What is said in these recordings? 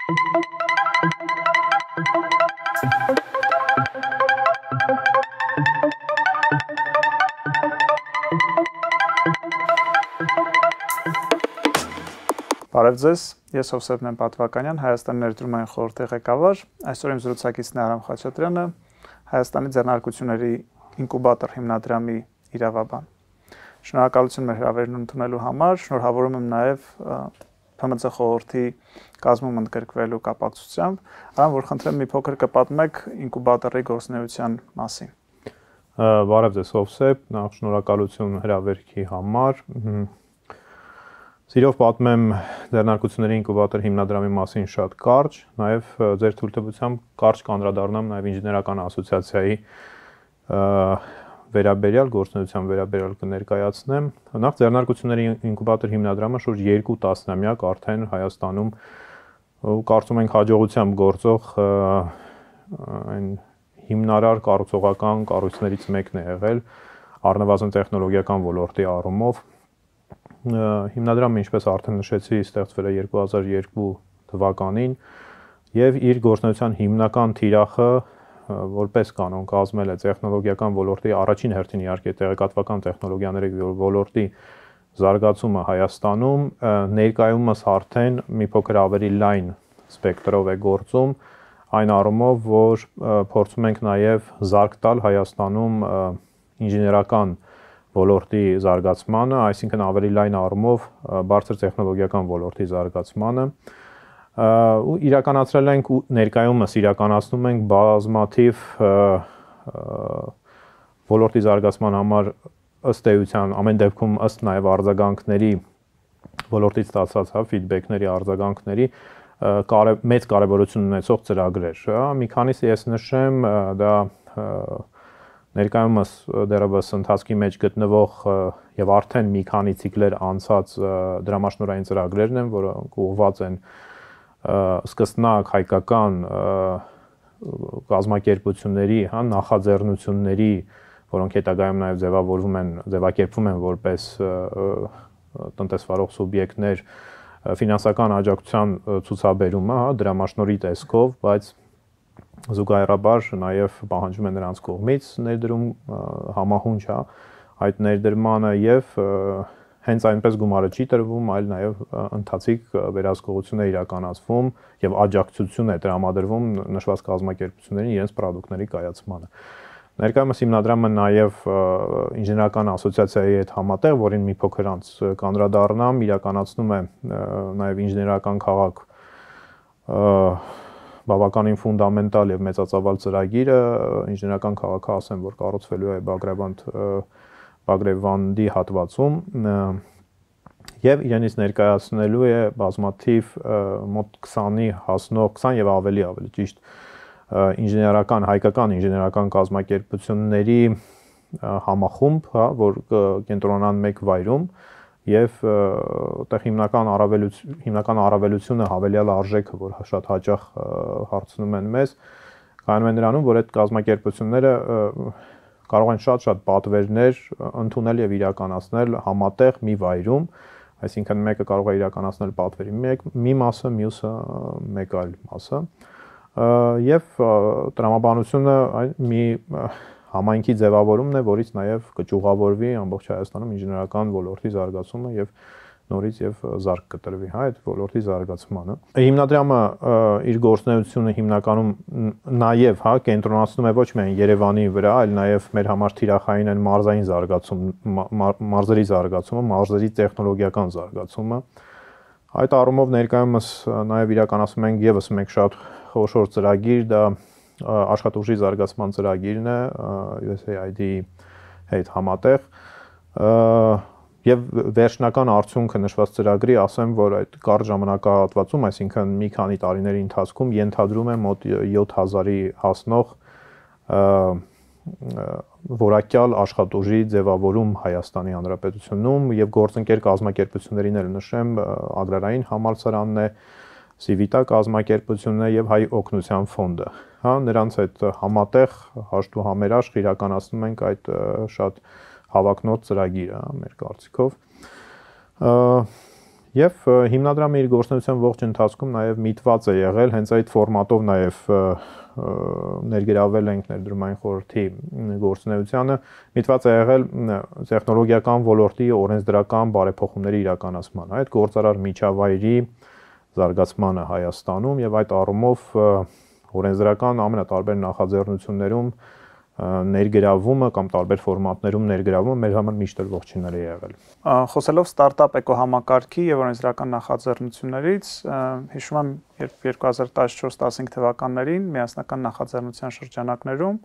Բարև ձեզ, ես Հովսեփ Պատվականյան, Հայաստանի ներդրումային խորհրդի ղեկավար, այսօր իմ զրուցակիցն է Արամ Խաչատրյանը, Հայաստանի ձեռնարկությունների ինկուբատոր հիմնադրամի իրավաբան։ Շնորհակալություն մեր հրավերն ընդունելու համար, շնորհավորում եմ նաև ՓՄԾ խորհրդի կազմում ընդգրկվելու կապակցությամբ, Արամ, որ խնդրեմ մի փոքր կպատմեք ինկուբատորի գործունեության մասին։ Բարև ձեզ Հովսեփ, նախ շնորհակալություն հրավերքի համար։ Սիրով պատմեմ ձեռնարկությունների ինկուբատոր հիմնադրամի մասին շատ կարճ, նաև ձեր թույլտվությամբ կարճ կանդրադառնամ նաև ինժեներական ասոցիացիայի վերաբերյալ գործունեության վերաբերյալ կներկայացնեմ։ Նախ ձեռնարկությունների ինկուբատոր հիմնադրամը շուրջ 2 տասնամյակ արդեն Հայաստանում կարծում ենք հաջողությամբ գործող այն հիմնարար կառուցողական կառույցներից մեկն է եղել առնվազն տեխնոլոգիական ոլորտի առումով։ Հիմնադրամը, ինչպես արդեն նշեցի, ստեղծվել է 2002 թվականին եւ իր գործունեության հիմնական թիրախը որպես կանոն կազմել է տեխնոլոգիական ոլորտի առաջին հերթին իհարկե տեղեկատվական տեխնոլոգիաների ոլորտի զարգացումը Հայաստանում, ներկայումս արդեն մի փոքր ավելի լայն սպեկտրով է գործում, այն առումով, որ փորձում ենք նաեւ զարգ տալ Հայաստանում ինժեներական ոլորտի զարգացմանը, այսինքն ավելի լայն առումով բարձր տեխնոլոգիական ոլորտի զարգացմանը, ու իրականացրել ենք ու ներկայումս իրականացնում ենք բազմաթիվ ոլորտի զարգացման համար ըստ էության ամեն դեպքում ըստ նաև արձագանքների ոլորտից ստացած ֆիդբեքների արձագանքների մեծ կարևորություն ունեցող ծրագրեր, մի քանիսը ես նշեմ, դա ներկայումս դեռևս ընթացքի մեջ գտնվող եւ արդեն մի քանի ցիկլեր անցած դրամաշնորհային ծրագրերն են, որոնք ուղղված են սկզբնակ հայկական կազմակերպությունների, նախաձեռնությունների, որոնք հետագայում նաեւ ձևակերպվում են որպես տնտեսվարող սուբյեկտներ ֆինանսական աջակցության ցուցաբերումը, դրամաշնորհի տեսքով, բայց զուգահեռաբար նաև պահանջում է նրանց կողմից ներդրում համահունչ այդ ներդրմանը եւ հենց այնպես գումարը չի տրվում, այլ նաև ընթացիկ վերահսկողություն է իրականացվում եւ աջակցություն է տրամադրվում նշված կազմակերպություններին իրենց պրոդուկտների կայացմանը։ Ներկայումս հիմնադրամը նաև ինժեներական ասոցիացիայի հետ համատեղ, որին մի փոքր անց կանդրադառնամ, իրականացնում է նաև ինժեներական քաղաք բավականին ֆունդամենտալ եւ մեծածավալ ծրագիրը, ինժեներական քաղաքը ասեմ, որ կառուցվելու է Բագրևանդի հատվածում եւ իրենից ներկայացնելու է բազմաթիվ մոտ 20-ի հասնող 20 եւ ավելի ճիշտ հայկական ինժեներական կազմակերպությունների համախումբ, որ կենտրոնանան մեկ վայրում եւ այդտեղ հիմնական առավելությունը հավելյալ արժեքը, որ շատ հաճախ հարցնում են մեզ, կայանում է նրանում, որ այդ կազմակերպությունները կարող են շատ պատվերներ ընդունել եւ իրականացնել համատեղ մի վայրում, այսինքն մեկը կարող է իրականացնել պատվերի մի մասը, մյուսը մեկ այլ մասը, եւ տրամաբանությունը մի համայնքի ձևավորումն է, որից նաև կճյուղավորվի ամբողջ Հայաստանում ինժեներական ոլորտի զարգացումը եւ նորից եւ զարգ կտրվի այդ ոլորտի զարգացմանը։ Հիմնադրամը իր գործունեությունը հիմնականում նաև կենտրոնացնում է ոչ միայն Երևանի վրա, այլ նաև մեր համար թիրախային են մարզային մարզերի զարգացումը, մարզերի տեխնոլոգիական զարգացումը։ Այդ առումով ներկայումս նաև իրականացնում ենք եւս մեկ շատ խոշոր ծրագիր, դա աշխատուժի զարգացման ծրագիրն է USAID-ի հետ համատեղ եւ վերջնական արդյունքը նշված ծրագրի ասեմ, որ այդ կարճ ժամանակահատվածում, այսինքն մի քանի տարիների ընթացքում ենթադրում է մոտ 7000-ի հասնող որակյալ աշխատուժի ձևավորում Հայաստանի Հանրապետությունում եւ գործընկեր կազմակերպություններին էլ նշեմ, Ագրարային համալսարանն է, Սիվիտա կազմակերպությունն է եւ Հայ օգնության ֆոնդը։ Նրանց այդ համատեղ հաշտ ու համերաշխ իրականացնում ենք այդ շատ հավակնոտ ծրագիրը մեր կարծիքով։ Եվ հիմնադրամը իր գործունեության ողջ ընթացքում նաև միտված է եղել հենց այդ ֆորմատով նաև ներգրավել ենք ներդրումային խորհրդի գործունեությանը, միտված է եղել տեխնոլոգիական ոլորտի օրենսդրական բարեփոխումների իրականացմանը, այդ գործարար միջավայրի զարգացմանը Հայաստանում եւ այդ առումով օրենսդրական ամենատարբեր նախաձեռնություններում ներգրավումը կամ տարբեր ֆորմատներում ներգրավումը մեր համար միշտ ողջունելի է եղել։ Խոսելով ստարտափ էկոհամակարգի եւ օրենսդրական նախաձեռնություններից, հիշում եմ, երբ 2014-15 թվականներին միասնական նախաձեռնության շրջանակներում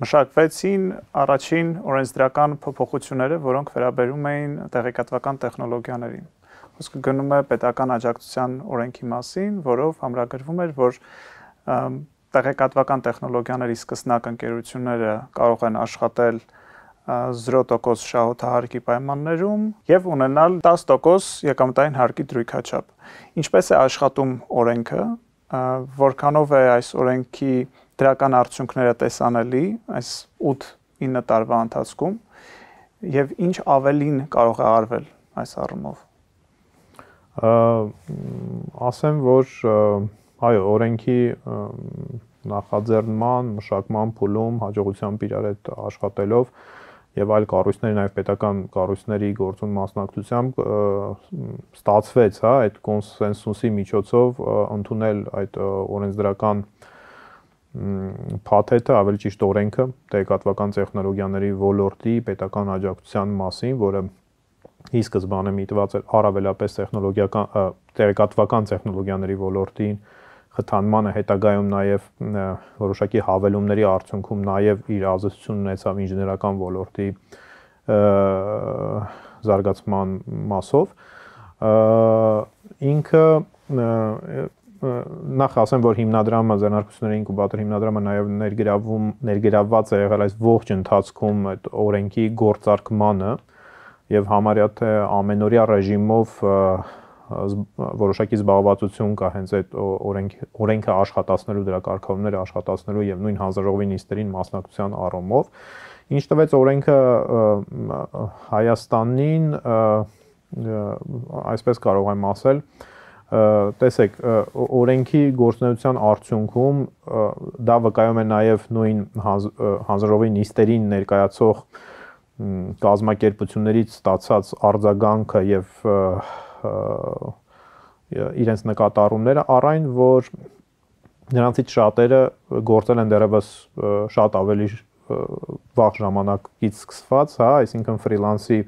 մշակվեցին առաջին օրենսդրական փոփոխությունները, որոնք վերաբերում էին տեղեկատվական տեխնոլոգիաներին։ Խոսքը գնում է պետական աջակցության օրենքի մասին, որով ամրագրվում էր, որ տեղեկատվական տեխնոլոգիաների սկսնակ ընկերությունները կարող են աշխատել 0% շահութահարկի պայմաններում եւ ունենալ 10% եկամտային հարկի դրույքաչափ։ Ինչպես է աշխատում օրենքը, որքանով է այս օրենքի դրական արդյունքները տեսանելի այս 8-9 տարվա ընթացքում եւ ինչ ավելին կարող է արվել այս առումով։ Ասեմ, որ այո, օրենքի նախաձեռնման, մշակման փուլում հաջողությամբ իրար հետ աշխատելով եւ այլ կառույցների, նաեւ պետական կառույցների գործուն մասնակցությամբ ստացվեց, հա, այդ կոնսենսուսի միջոցով ընդունել այդ օրենսդրական փաթեթը, ավելի ճիշտ օրենքը տեղեկատվական տեխնոլոգիաների ոլորտի պետական աջակցության մասին, որը ի սկզբանե միտված էր առավելապես տեղեկատվական տեխնոլոգիաների ոլորտին խթանմանը, հետագայում նաև որոշակի հավելումների արդյունքում նաև իր ազդեցություն ունեցավ ինժեներական ոլորտի զարգացման մասով։ Ինքը նախ ասեմ, որ հիմնադրամը, ձեռնարկությունների ինկուբատոր հիմնադրամը նաև ներգրավված է եղել այս ողջ ընթացքում այդ օրենքի գործարկմանը եւ համարյա թե ամենօրյա ռեժիմով որոշակի զբաղվածություն կա հենց այդ օրենքը աշխատացնելու, դրա կարգավորումները աշխատացնելու եւ նույն հանձնաժողովի նիստերին մասնակցության առումով, ինչ տվեց օրենքը Հայաստանին, այսպես կարող եմ ասել, տեսեք, օրենքի գործունեության արդյունքում դա վկայում է նաեւ նույն հանձնաժողովի նիստերին ներկայացող կազմակերպություններից ստացած արձագանքը եւ իրենց նկատառումները առայն, որ նրանցից շատերը գործել են դեռևս շատ ավելի վաղ ժամանակից սկսված, հա, այսինքն ֆրիլանսի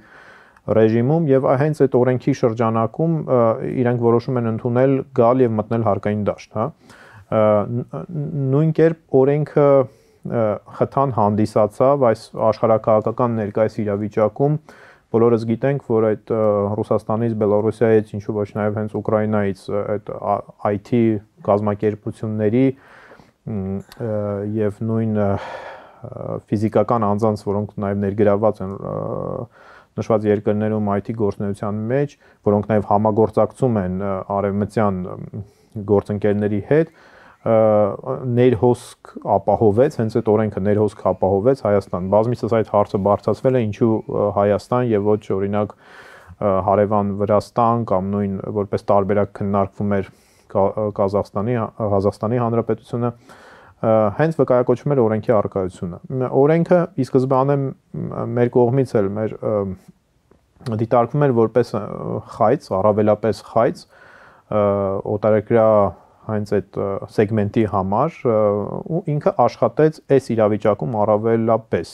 ռեժիմում եւ հենց այդ օրենքի շրջանակում իրենք որոշում են ընդունել գալ եւ մտնել հարկային դաշտ, հա։ Նույն կերպ օրենքը խթան հանդիսացավ այս աշխարհակահաղական ներկայիս իրավիճակում բոլորս գիտենք, որ այդ Ռուսաստանից, Բելոռուսիայից, ինչու ոչ նաև հենց Ուկրաինայից այդ IT կազմակերպությունների եւ նույն ֆիզիկական անձանց, որոնք նաև ներգրավված են նշված երկրներում IT գործունեության մեջ, որոնք նաև համագործակցում են արևմտյան գործընկերների հետ, ներհոսք ապահովեց, հենց այդ օրենքը ներհոսք ապահովեց Հայաստան։ Բազմիցս այդ հարցը բարձրացվել է, ինչու Հայաստան եւ ոչ օրինակ հարևան Վրաստան կամ նույն որպես տարբերակ քննարկվում էր Ղազախստանի Հանրապետությունը, հենց վկայակոչվում էր օրենքի առկայությունը։ Օրենքը ի սկզբանե մեր կողմից էլ մեր դիտարկվում էր որպես խայծ, առավելապես խայծ օտարերկրյա հենց այդ սեգմենտի համար ու ինքը աշխատեց այս իրավիճակում առավելապես։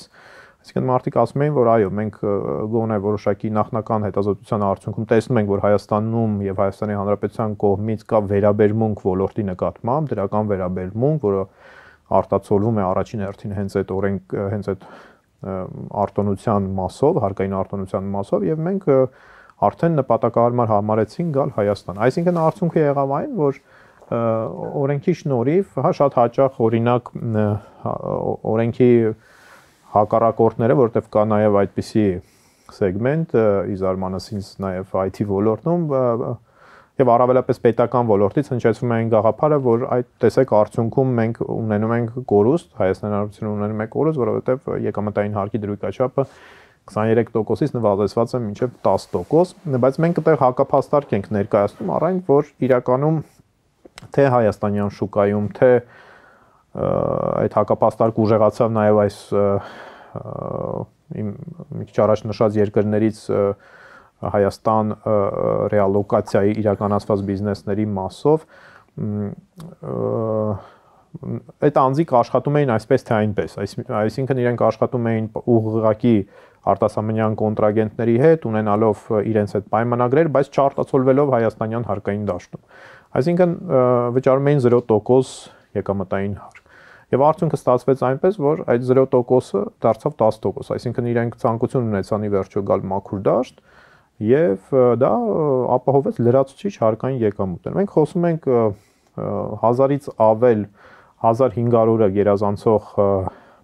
Այսինքն մարդիկ ասում էին, որ այո, մենք գոնե որոշակի նախնական հետազոտության արդյունքում տեսնում ենք, որ Հայաստանում եւ Հայաստանի Հանրապետության կողմից կա վերաբերմունք ոլորտի նկատմամբ, դրական վերաբերմունք, որը արտացոլվում է առաջին հերթին հենց այդ օրենք, հենց այդ արտոնության մասով, հարկային արտոնության մասով եւ մենք արդեն նպատակահարմար համարեցինք գալ Հայաստան։ Այսինքն արդյունքը եղավ այն, որ օրենքի շնորհիվ, հա, շատ հաճախ օրինակ օրենքի հակառակորդները, որտեղ կա նաև այդպիսի սեգմենտ, իզարմանս ինձ նաև IT ոլորտում եւ առավելապես պետական ոլորտից հնչեցվում է այն գաղափարը, որ այդ տեսեք արդյունքում մենք ունենում ենք կորուստ, Հայաստանի Հանրապետությունը ունենում է կորուստ, որովհետեւ եկամտային հարկի դրույքաչափը 23%-ից նվազեցված է մինչև 10%, բայց մենք այդտեղ հակափաստարկ ենք ներկայացնում առայն, որ իրականում թե հայաստանյան շուկայում, թե այդ հակափաստարկ ուժեղացավ նաև այս մի քիչ առաջ նշած երկրներից Հայաստան ռեալոկացիայի իրականացված բիզնեսների մասով այդ անձիկ աշխատում էին այսպես թե այնպես, այսինքն իրենք աշխատում էին ուղղակի արտասահմանյան կոնտրագենտների հետ, ունենալով իրենց այդ պայմանագրեր, բայց չարտացոլվելով հայաստանյան հարկային դաշտում։ Այսինքն վճարում էին 0% եկամտային հարկ։ Եվ արդյունքը ստացվեց այնպես, որ այդ 0%-ը դարձավ 10%, այսինքն իրենք ցանկություն ունեցան ի վերջո գալ մաքուր դաշտ եւ դա ապահովեց լրացուցիչ հարկային եկամուտներ։ Մենք խոսում ենք 1000-ից ավել 1500-ը գերազանցող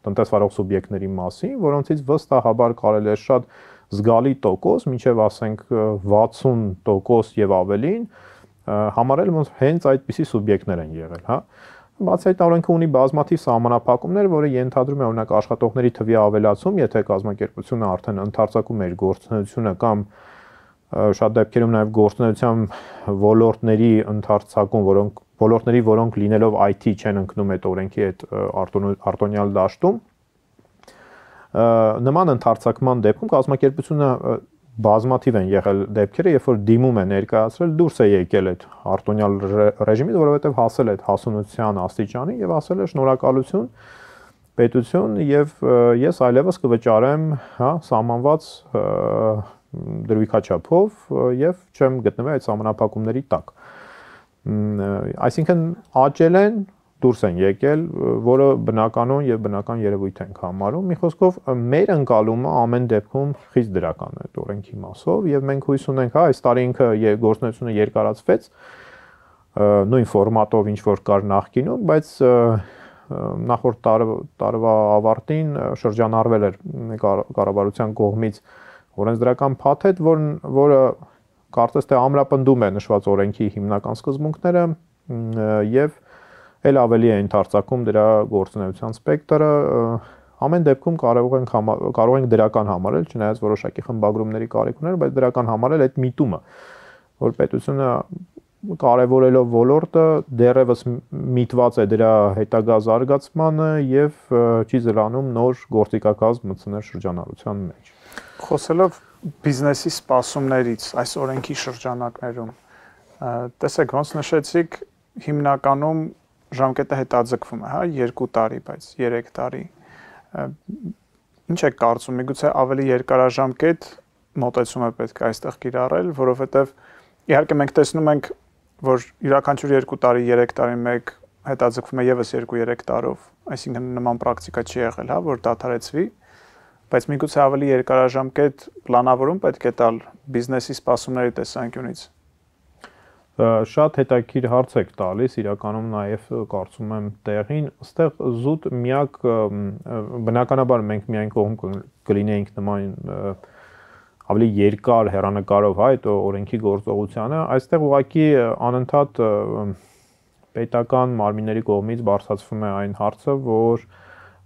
տնտեսվարող սուբյեկտների մասին, որոնցից վստահաբար կարելի է շատ զգալի տոկոս, մինչև ասենք 60% եւ ավելին համարել ոնց հենց այդպիսի սուբյեկտներ են եղել, հա։ Բացի այդ օրենքը ունի բազմաթիվ սահմանափակումներ, որը ենթադրում է օրինակ աշխատողների թվի ավելացում, եթե կազմակերպությունը արդեն ընդարձակում է իր գործունեությունը կամ շատ դեպքերում նաև գործունեության ոլորտների ընդարձակում, որոնք լինելով IT չեն ընկնում այդ օրենքի այդ արտոնյալ դաշտում, նման ընդարձակման դեպքում կազմակերպությունը բազմաթիվ են եղել դեպքերը, երբ որ դիմում է ներկայացրել, դուրս է եկել այդ արտոնյալ ռեժիմից, որովհետև հասել է այդ հասունության աստիճանի եւ ասել է շնորհակալություն պետություն եւ ես այլևս կվճարեմ, հա, սահմանված դրույքաչափով եւ չեմ գտնվել այդ սահմանափակումների տակ։ Այսինքն աճել են, դուրս են եկել, որը բնականon եւ բնական երևույթ ենք համարում։ Մի խոսքով մեր ընկալումը ամեն դեպքում խիստ դրական է այդ օրենքի մասով եւ մենք հույս ունենք, հա, այս տարի ինքը գործունեությունը երկարացվեց նույն ֆորմատով ինչ որ կար նախկինում, բայց նախորդ տարվա ավարտին շրջանառվել էր կառավարության կողմից օրենսդրական փաթեթ, որը կարծես թե ամրապնդում է նշված օրենքի հիմնական սկզբունքները եւ էլ ավելի է ընդարձակում դրա գործունեության սպեկտրը, ամեն դեպքում կարող ենք դրական համարել, չնայած որոշակի խմբագրումների կարիք ուներ, բայց դրական համարել այդ միտումը, որ պետությունը կարևորելով ոլորտը դեռևս միտված է դրա հետագա զարգացմանը եւ չի զլանում նոր գործիքակազմ մտցնել շրջանառության մեջ։ Խոսելով բիզնեսի սպասումներից այս օրենքի շրջանակներում, տեսեք, ոնց նշեցիք, հիմնականում ժամկետը հետաձգվում է, հա, 2 տարի, բայց 3 տարի։ Ինչ եք կարծում, միգուցե ավելի երկարաժամկետ մոտեցում է պետք այստեղ կիրառել, որովհետև իհարկե մենք տեսնում ենք, որ յուրաքանչյուր 2 տարի, 3 տարի մեկ հետաձգվում է եւս 2-3 տարով, այսինքն նման պրակտիկա չի եղել, հա, որ դադարեցվի, բայց միգուցե ավելի երկարաժամկետ պլանավորում պետք է տալ բիզնեսի սպասումների տեսանկյունից։ Շատ հետաքրքիր հարց եք տալիս, իրականում նաև կարծում եմ տեղին, այստեղ զուտ միակ բնականաբար մենք միայն կողմ կլինեինք նման ավելի երկար հեռանկարով, հա, այդ օրենքի գործողությանը, այստեղ ուղղակի անընդհատ պետական մարմինների կողմից բարձրացվում է այն հարցը, որ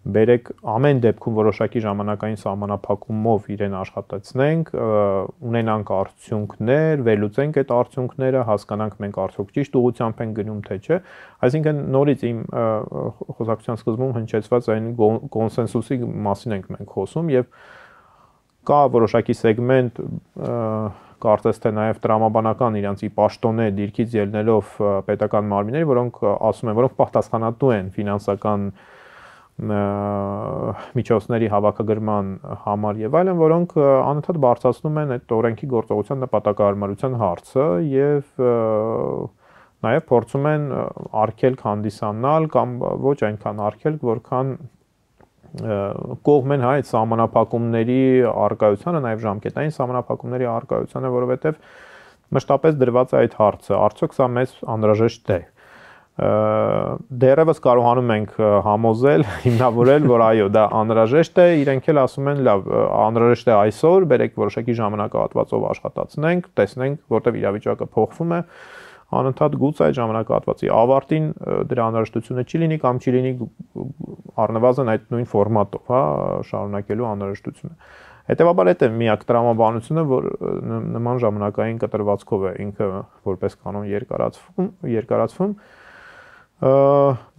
բերեք ամեն դեպքում որոշակի ժամանակային սահմանափակումով իրեն աշխատացնենք, ունենանք արդյունքներ, վերլուծենք այդ արդյունքները, հասկանանք մենք արդյոք ճիշտ ուղղությամբ ենք գնում թե չէ։ Այսինքն նորից իմ խոսակցության սկզբում հնչեցված այն կոնսենսուսի մասին ենք մենք խոսում եւ կա որոշակի սեգմենտ կարծես թե նաև տրամաբանական իրանցի պաշտոնե դիրքից ելնելով պետական մարմինների, որոնք ասում են, որոնք պատասխանատու են ֆինանսական միջոցների հավաքագրման համար եւ այլն, որոնք անընդհատ բարձրացնում են այդ օրենքի գործողության նպատակահարմարության հարցը եւ նաեւ փորձում են արգելք հանդիսանալ կամ ոչ այնքան արգելք, որքան կողմ են հա այդ սահմանափակումների առկայությանը, նաեւ ժամկետային սահմանափակումների առկայությանը, որովհետեւ մշտապես դրված է այդ հարցը, արդյոք սա մեզ անհրաժեշտ է։ Դեռևս կարողանում ենք համոզել, հիմնավորել, որ այո, դա անհրաժեշտ է, իրենք էլ ասում են, լավ, անհրաժեշտ է այսօր, բերեք որոշակի ժամանակահատվածով աշխատացնենք, տեսնենք, որտեղ իրավիճակը փոխվում է, անընդհատ գուցե այդ ժամանակահատվածի ավարտին դրա անհրաժեշտությունը չի լինի կամ չի լինի առնվազն այդ նույն ֆորմատով, հա, շարունակելու անհրաժեշտությունը։ Հետևաբար այդ է միակ տրամաբանությունը, որ նման ժամանակային կտրվածքով է ինքը որպես կանոն երկարացվում,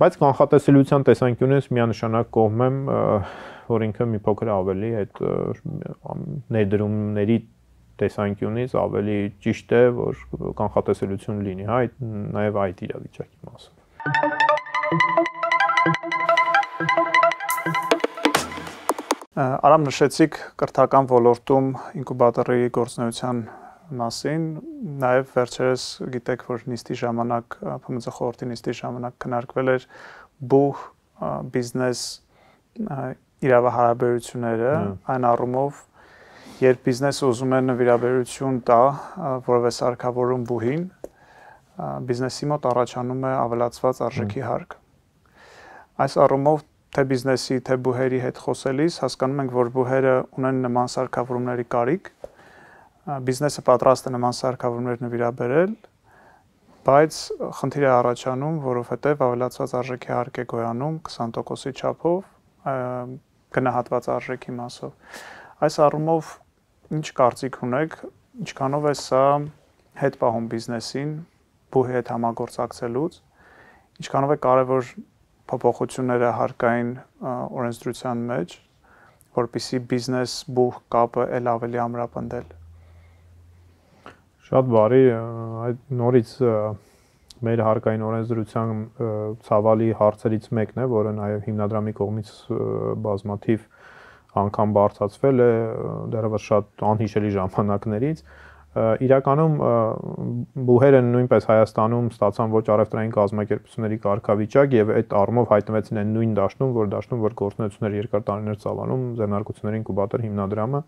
բայց կանխատեսելիության տեսանկյունից միանշանակ կողմ եմ, որ ինքը մի փոքր ավելի այդ ներդրումների տեսանկյունից ավելի ճիշտ է, որ կանխատեսելիություն լինի, հա, նաև այդ իրավիճակի մասով։ Արամ նշեցիք կրթական ոլորտում ինկուբատորի գործունեության մասին, նաև վերջերս գիտեք, որ նիստի ժամանակ, ՓՄԶ խորհրդի նիստի ժամանակ քննարկվել էր բուհ բիզնես իրավահարաբերությունները, այն առումով, երբ բիզնեսը ուզում է նվիրաբերություն տա որևէ սարքավորում բուհին, բիզնեսի մոտ առաջանում է ավելացված արժեքի հարկ։ Այս առումով թե բիզնեսի, թե բուհերի հետ խոսելիս հասկանում ենք, որ բուհերը ունեն նման սարքավորումների կարիք, բիզնեսը պատրաստ է նման սարքավորումներ նվիրաբերել, բայց խնդիր է առաջանում, որովհետև ավելացված արժեքի հարկ է գոյանում 20%-ի չափով, գնահատված արժեքի մասով։ Այս առումով ինչ կարծիք ունեք, ինչքանով է սա հետ պահում բիզնեսին բուհի հետ համագործակցելուց, ինչքանով է կարևոր փոփոխությունները հարկային օրենսդրության մեջ, որպեսզի բիզնես բուհ կապը ել ավելի ամրապնդել։ Շատ բարի, այդ նորից մեր հարկային օրենսդրության ցավալի հարցերից մեկն է, որը նաև հիմնադրամի կողմից բազմաթիվ անգամ բարձրացվել է դեռևս շատ անհիշելի ժամանակներից։ Իրականում բուհերը նույնպես Հայաստանում ստացան ոչ առևտրային կազմակերպությունների կարգավիճակ եւ այդ առումով հայտնվեցին այն նույն դաշտում, որ գործունեություններ երկար տարիներ ծավալում ձեռնարկությունների ինկուբատոր հիմնադրամը։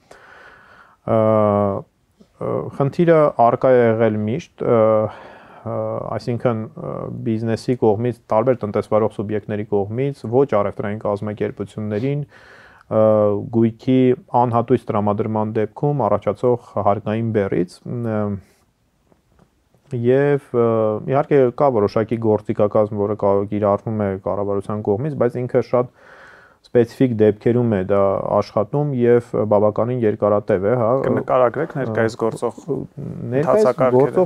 Խնդիրը արկա է եղել միշտ, այսինքն բիզնեսի կողմից, տարբեր տնտեսվարող սուբյեկտների կողմից ոչ առևտրային կազմակերպություններին գույքի անհատույց տրամադրման դեպքում առաջացող հարկային բեռից եւ իհարկե կա որոշակի գործիքակազմ, որը կիրառվում է կառավարության կողմից, բայց ինքը շատ սպეციფიկ դեպքերում է դա աշխատում եւ բավականին երկարատև է, հա։ Կնկարագրեք ներկայիս գործող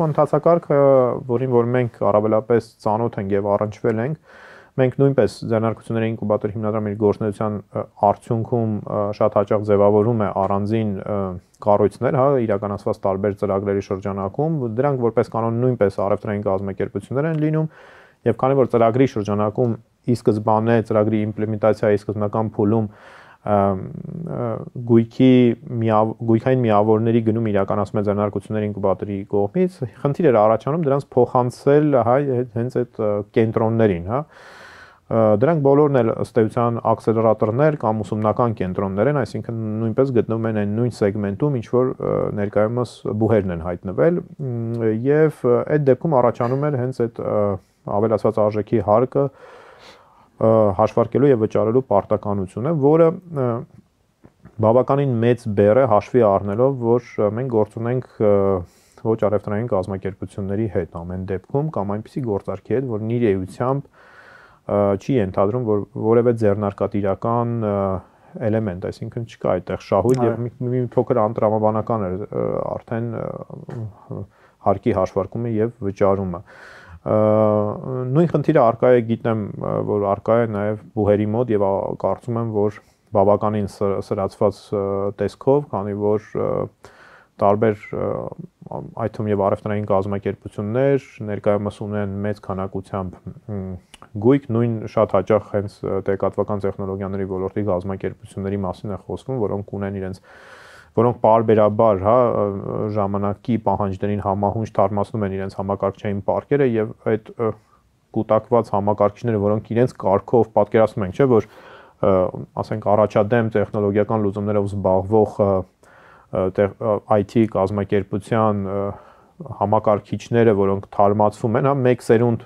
ընթացակարգը, որին որ մենք առավելապես ծանոթ ենք եւ առնչվել ենք, մենք նույնպես ձեռնարկությունների ինկուբատոր հիմնադրամի գործունեության արդյունքում շատ հաճախ ձևավորում է առանձին կառույցներ, հա, իրականացված տարբեր ծրագրերի շրջանակում, դրանք որպես կանոն նույնպես առևտրային կազմակերպություններ են լինում, եւ քանի որ ծրագրի շրջանակում ի սկզբանե ծրագրի իմպլեմենտացիայի սկզբնական փուլում գույքային միավորների գնում իրականացում է ձեռնարկությունների ինկուբատորի կողմից, խնդիր էր առաջանում դրանց փոխանցել, հա, հենց այդ կենտրոններին, հա։ Դրանք բոլորն էլ ըստ էության ակսելերատորներ կամ ուսումնական կենտրոններ են, այսինքն նույնպես գտնվում են այն նույն սեգմենտում, ինչ որ ներկայումս բուհերն են հայտնվել, եւ այդ դեպքում առաջանում էր հենց այդ ավելացված արժեքի հարկը հաշվարկելու եւ վճարելու պարտականությունը, որը բավականին մեծ բեռ է հաշվի առնելով, որ մենք գործ ունենք ոչ առևտրային կազմակերպությունների հետ ամեն դեպքում կամ այնպիսի գործարքի հետ, որ իր էությամբ չի ենթադրում, որ որևէ ձեռնարկատիրական էլեմենտ, այսինքն չկա այդտեղ շահույթ եւ մի փոքր անտրամաբանական է արդեն հարկի հաշվարկումը եւ վճարումը։ Նույն խնդիրը արկա է, գիտեմ, որ արկա է նաեւ բուհերի մոտ եւ կարծում եմ, որ բավականին սրացված տեսքով, քանի որ տարբեր այդ թվում եւ առևտրային կազմակերպություններ ներկայումս ունեն մեծ քանակությամբ գույք, նույն շատ հաճախ հենց տեղեկատվական տեխնոլոգիաների ոլորտի կազմակերպությունների մասին է խոսվում, որոնք պարբերաբար, հա, ժամանակի պահանջներին համահունչ թարմացնում են իրենց համակարգչային պարկերը եւ այդ կուտակված համակարգիչները, որոնք իրենց կարգով պատկերացնում ենք, չէ, որ ասենք առաջադեմ տեխնոլոգիական լուծումներով զբաղվող IT կազմակերպության համակարգիչները, որոնք թարմացվում են, հա, մեկ սերունդ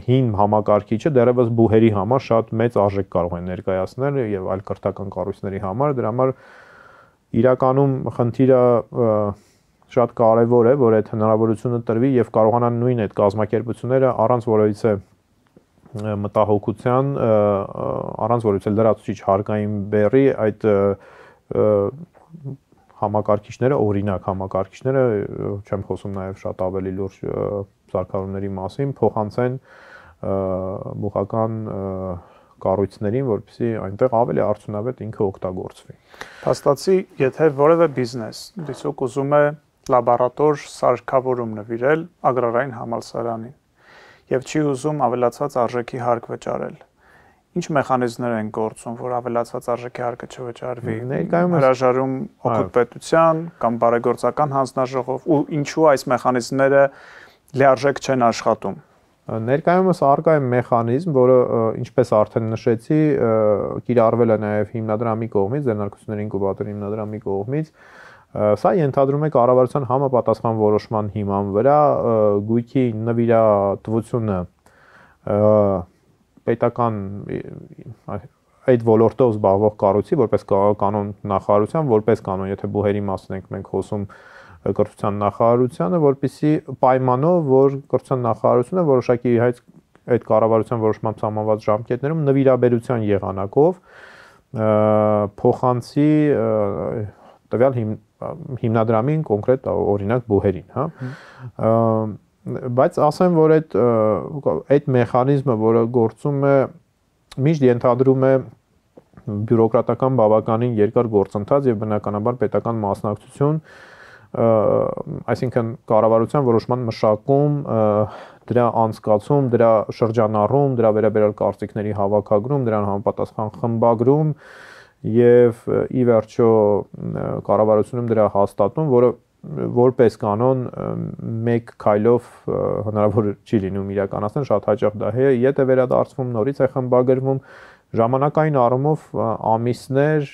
հին համակարգիչը դեռևս բուհերի համար շատ մեծ արժեք կարող են ներկայացնել եւ այլ կրթական կառույցների համար, դրա համար իրականում խնդիրը շատ կարեւոր է, որ այդ հնարավորությունը տրվի եւ կարողանան նույն այդ կազմակերպությունները առանց որևիցե մտահոգության, առանց որևիցե լրացուցիչ հարկային բեռի այդ համակարգիչները, օրինակ համակարգիչները, չեմ խոսում նաև շատ ավելի լուրջ սարքավորումների մասին, փոխանցեն մուղական կառույցներին, որպեսզի այնտեղ ավելի արդյունավետ ինքը օգտագործվի։ Փաստացի, եթե որևէ բիզնես դիցուկ ուզում է լաբորատոր սարքավորում նվիրել ագրարային համալսարանին եւ չի ուզում ավելացած արժեքի հարկ վճարել, ինչ մեխանիզմներ են գործում, որ ավելացած արժեքի հարկը չվճարվի։ Հրաժարում օգուտ պետության կամ բարեգործական հանձնաժողով ու ինչու այս մեխանիզմները լիարժեք չեն աշխատում։ Ներկայումս արկա է մեխանիզմ, որը ինչպես արդեն նշեցի, կիրառվել է նաև հիմնադրամի կողմից, ձեռնարկությունների ինկուբատորի հիմնադրամի կողմից։ Սա ենթադրում է կառավարության համապատասխան որոշման հիման վրա գույքի նվիրատվությունը պետական այդ ոլորտով զբաղվող կառույցի, որպես կանոն նախարարության, որպես կանոն, եթե բուհերի մասն ենք մենք խոսում կրթության նախարարությանը, որպեսզի պայմանով, որ կրթության նախարարությունը որոշակի այդ կառավարության որոշմամբ սահմանված ժամկետներում նվիրաբերության եղանակով փոխանցի տվյալ հիմնադրամին, կոնկրետ օրինակ բուհերին, հա։ Բայց ասեմ, որ այդ մեխանիզմը, որը գործում է, միշտ ենթադրում է բյուրոկրատական բավականին երկար գործընթաց եւ բնականաբար պետական մասնակցություն, այսինքն կառավարության որոշման մշակում, դրա անցկացում, դրա շրջանառում, դրա վերաբերյալ կարծիքների հավաքագրում, դրան համապատասխան խմբագրում եւ ի վերջո կառավարությունում դրա հաստատում, որը որպես կանոն մեկ քայլով հնարավոր չի լինում իրականացնել, շատ հաճախ դա ետ է վերադարձվում, նորից է խմբագրվում, ժամանակային առումով ամիսներ,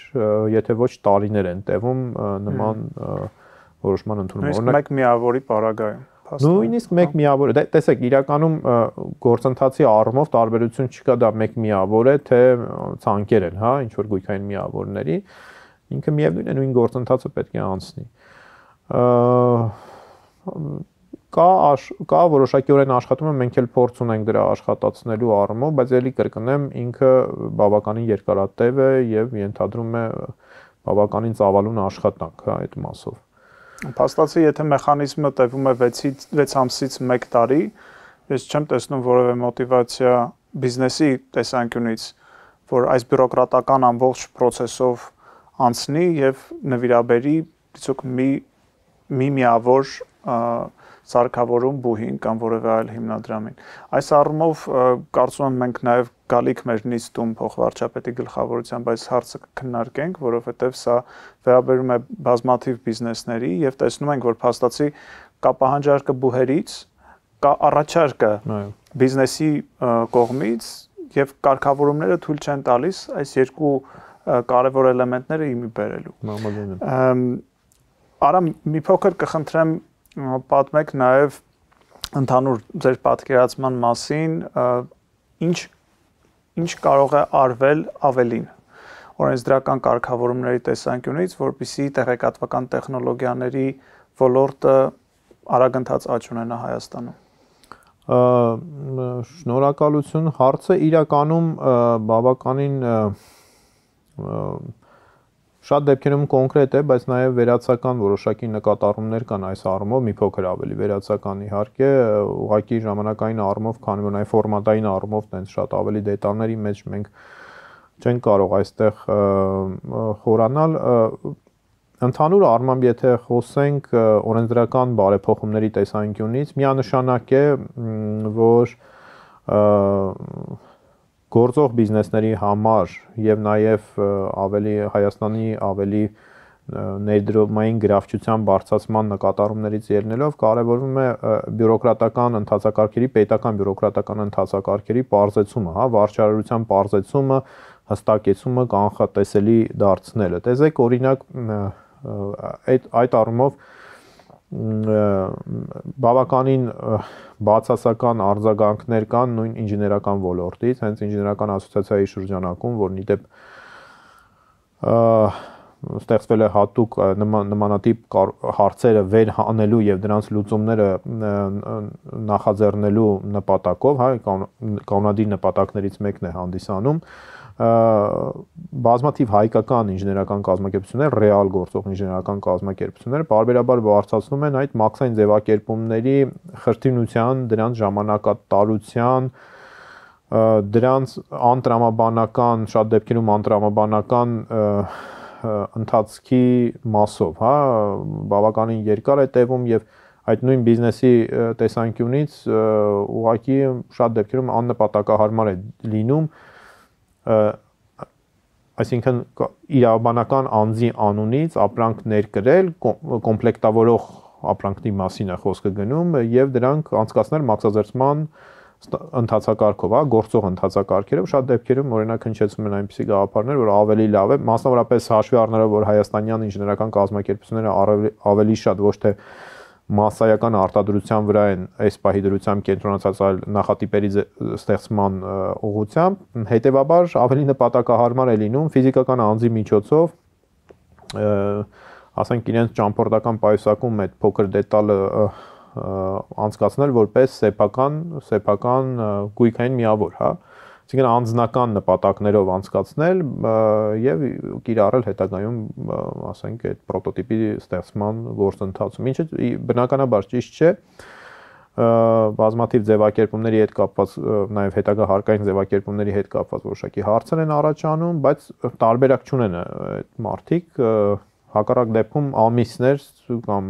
եթե ոչ տարիներ են տևում նման որոշման ընդունումը։ Նույնիսկ մեկ միավորի պարագայում։ Նույնիսկ մեկ միավոր է, տեսեք, իրականում գործընթացի առումով տարբերություն չկա, դա մեկ միավոր է, թե ցանկեր են, հա, ինչ որ գույքային միավորների, ինքը միևնույն է, նույն գործընթացը պետք է անցնի։ Կա որոշակիորեն աշխատում է, մենք էլ փորձ ունենք դրա աշխատացնելու առումով, բայց ելի կրկնեմ, ինքը բավականին երկարատև է եւ ենթադրում է բավականին ծավալուն աշխատանք, հա, այդ մասով։ Փաստացի, եթե մեխանիզմը տևում է 6 ամսից 1 տարի, ես չեմ տեսնում որևէ մոտիվացիա բիզնեսի տեսանկյունից, որ այս բյուրոկրատական ամբողջ process-ով անցնի եւ նվիրաբերի դիցուկ մի միավոր սարքավորում բուհին կամ որևէ այլ հիմնադրամին։ Այս առումով կարծում եմ մենք նաև գալիք մեր նիստում փոխվարչապետի գլխավորությամբ այս հարցը քննարկենք, որովհետև սա վերաբերում է բազմաթիվ բիզնեսների եւ տեսնում ենք, որ փաստացի կա պահանջարկը բուհերից, կա առաջարկը բիզնեսի կողմից եւ կարգավորումները թույլ չեն տալիս այս երկու կարևոր էլեմենտները իմի բերելու։ Արա մի փոքր կխնդրեմ պատմեք նաև ընդհանուր ձեր պատկերացման մասին, ինչ կարող է արվել ավելին օրենսդրական կարգավորումների տեսանկյունից, որպեսզի տեղեկատվական տեխնոլոգիաների ոլորտը արագընթաց աճ ունենա Հայաստանում։ Շնորհակալություն, հարցը իրականում բավականին շատ դեպքերում կոնկրետ է, բայց նաև վերացական որոշակի նկատառումներ կան այս առումով, մի փոքր ավելի վերացական իհարկե, ուղղակի ժամանակային առումով, քանի որ նաև ֆորմատային առումով տենց շատ ավելի դետալների մեջ մենք չենք կարող այստեղ խորանալ։ Ընդհանուր առմամբ, եթե խոսենք օրենսդրական բարեփոխումների տեսանկյունից, միանշանակ է, որ գործող բիզնեսների համար եւ նաեւ ավելի Հայաստանի ավելի ներդրումային գրավչության բարձրացման նկատառումներից ելնելով կարևորվում է բյուրոկրատական ընթացակարգերի, պետական բյուրոկրատական ընթացակարգերի պարզեցումը, հա, վարչարարության պարզեցումը, հստակեցումը, կանխատեսելի դարձնելը։ Տեսեք, օրինակ այդ առումով բավականին բացասական արձագանքներ կան նույն ինժեներական ոլորտից, հենց ինժեներական ասոցիացիայի շրջանակում, որն իդեպ ստեղծվել է հատուկ նմանատիպ հարցերը վերհանելու եւ դրանց լուծումները նախաձեռնելու նպատակով, հա, կանոնադիր նպատակներից մեկն է հանդիսանում, բազմաթիվ հայկական ինժեներական կազմակերպություններ, ռեալ գործող ինժեներական կազմակերպություններ բարբերաբար բարձրացնում են այդ մաքսային ձևակերպումների խրթինության, դրանց ժամանակատարության, դրանց անտրամաբանական, շատ դեպքերում անտրամաբանական ընթացքի մասով, հա, բավականին երկար է տևում եւ այդ նույն բիզնեսի տեսանկյունից ուղղակի շատ դեպքերում աննպատակահարմար է լինում, այսինքն իրավաբանական անձի անունից ապրանք ներկրել, կոմպլեկտավորող ապրանքների մասին է խոսքը գնում եւ դրանք անցկացնել մաքսազերծման ընթացակարգով, հա, գործող ընթացակարգերով շատ դեպքերում օրինակ հնչեցում են այնպիսի գաղափարներ, որ ավելի լավ է, մասնավորապես հաշվի առնելով, որ հայաստանյան ինժեներական կազմակերպությունները ավելի շատ ոչ թե մասսայական արտադրության վրա են այս պահի դրությամբ կենտրոնացած այլ նախատիպերի ստեղծման ուղղությամբ, հետեւաբար ավելի նպատակահարմար է լինում ֆիզիկական անձի միջոցով, ասենք իրենց ճամփորդական պայուսակում այդ փոքր դետալը անցկացնել որպես սեփական գույքային միավոր, հա, այսինքն անձնական նպատակներով անցկացնել եւ կիրառել հետագայում, ասենք, այդ պրոտոտիպի ստեղծման գործընթացում, ինչը բնականաբար ճիշտ չէ, բազմաթիվ ձևակերպումների հետ կապված, նաեւ հետագա հարկային ձևակերպումների հետ կապված որոշակի հարցեր են առաջանում, բայց տարբերակ չունեն այդ մարդիկ, հակառակ դեպքում ամիսներ կամ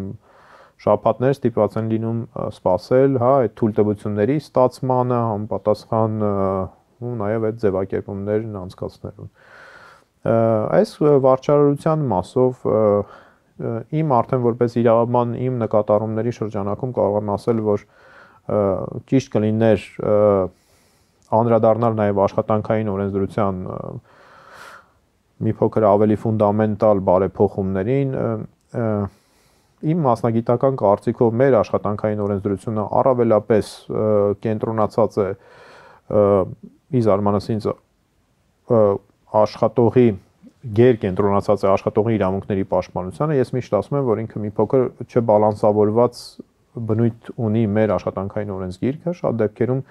շաբաթներ ստիպված են լինում սպասել, հա, այդ թույլտվությունների ստացմանը, համապատասխան ու նաև այդ ձևակերպումներն անցկացնելուն։ Այս վարչարարության մասով իմ արդեն որպես իրավաբան իմ նկատառումների շրջանակում կարող եմ ասել, որ ճիշտ կլիներ անդրադառնալ նաև աշխատանքային օրենսդրության մի փոքր ավելի ֆունդամենտալ բարեփոխումներին, իմ մասնագիտական կարծիքով մեր աշխատանքային օրենսդրությունը առավելապես կենտրոնացած է ի զարմանս ինձ աշխատողի գերկենտրոնացած է աշխատողի իրավունքների պաշտպանությանը, ես միշտ ասում եմ, որ ինքը մի փոքր չբալանսավորված բնույթ ունի մեր աշխատանքային օրենսգիրքը, շատ դեպքերում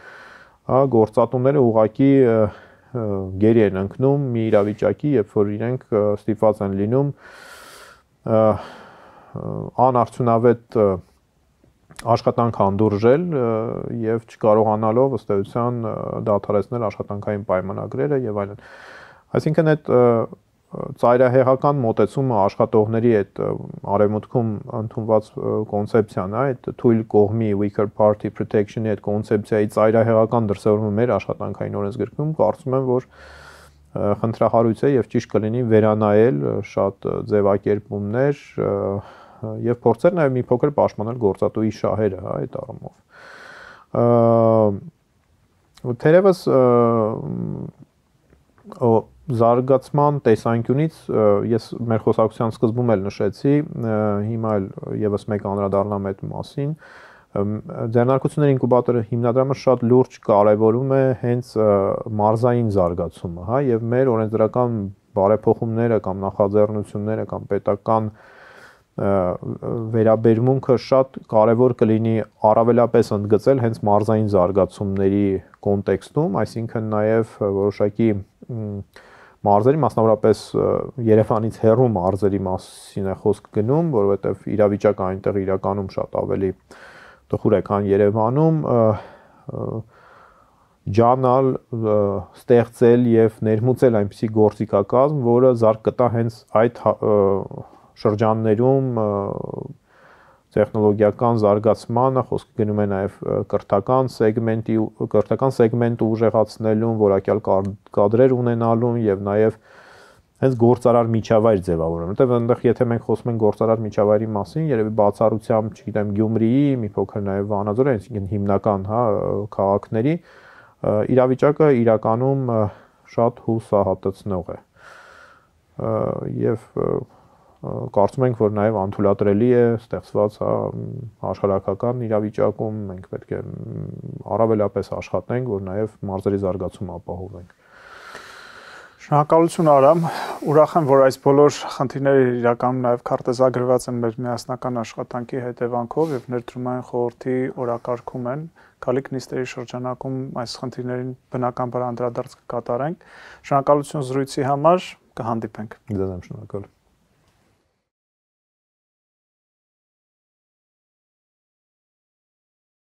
գործատուները ուղղակի գերի են ընկնում մի իրավիճակի, երբ որ իրենք ստիպված են լինում անարդյունավետ աշխատանք հանդուրժել եւ չկարողանալով ըստ էության դադարեցնել աշխատանքային պայմանագրերը եւ այլն։ Այսինքն այդ ծայրահեղական մոտեցումը աշխատողների այդ արևմուտքում ընդունված կոնցեպցիան, այդ թույլ կողմի weaker party protection-ի այդ կոնցեպցիայի ծայրահեղական դրսևորումը մեր աշխատանքային օրենսգրքում կարծում եմ, որ խնդրահարույց է եւ ճիշտ կլինի վերանայել շատ ձևակերպումներ եւ փորձել նաեւ մի փոքր պաշտպանել գործատուի շահերը, հա, այդ առումով։ Թերևս զարգացման տեսանկյունից ես մեր խոսակցության սկզբում էլ նշեցի, հիմա էլ եւս մեկ անդրադառնամ այդ մասին, ձեռնարկությունների ինկուբատորը հիմնադրամը շատ լուրջ կարևորում է հենց մարզային զարգացումը, հա, եւ մեր օրենսդրական բարեփոխումները կամ նախաձեռնությունները կամ պետական վերաբերմունքը շատ կարևոր կլինի առավելապես ընդգծել հենց մարզային զարգացումների կոնտեքստում, այսինքն նաև որոշակի մարզերի, մասնավորապես Երևանից հեռու մարզերի մասին է խոսք գնում, որովհետև իրավիճակը այնտեղ իրականում շատ ավելի տխուր է, քան Երևանում, ջանալ, ստեղծել եւ ներմուծել այնպիսի գործիքակազմ, որը զարգ կտա հենց այդ շրջաններում տեխնոլոգիական զարգացմանը, խոսքը գնում է նաև կրթական սեգմենտը ուժեղացնելուն, որակյալ կադրեր ունենալուն եւ նաև հենց գործարար միջավայր ձևավորելուն, որտեղ այնտեղ եթե մենք խոսում ենք գործարար միջավայրի մասին, երևի բացառությամբ, չգիտեմ, Գյումրիի, մի փոքր նաև Վանաձորի, այսինքն հիմնական, հա, քաղաքների իրավիճակը իրականում շատ հուսահատեցնող է։ Եվ կարծում ենք, որ նաև անթույլատրելի է ստեղծված աշխարհակական իրավիճակում մենք պետք է առավելապես աշխատենք, որ նաև մարզերի զարգացումը ապահովենք։ Շնորհակալություն Արամ, ուրախ եմ, որ այս բոլոր խնդիրները իրականում նաև քարտեզագրված են մեր միասնական աշխատանքի հետևանքով եւ ներդրումային խորհրդի օրակարգում են։ Գալիք նիստերի շրջանակում այս խնդիրներին բնականաբար անդրադարձ կկատարենք։ Շնորհակալություն զրույցի համար, կհանդիպենք։ Ձեզ եմ շնորհակալ։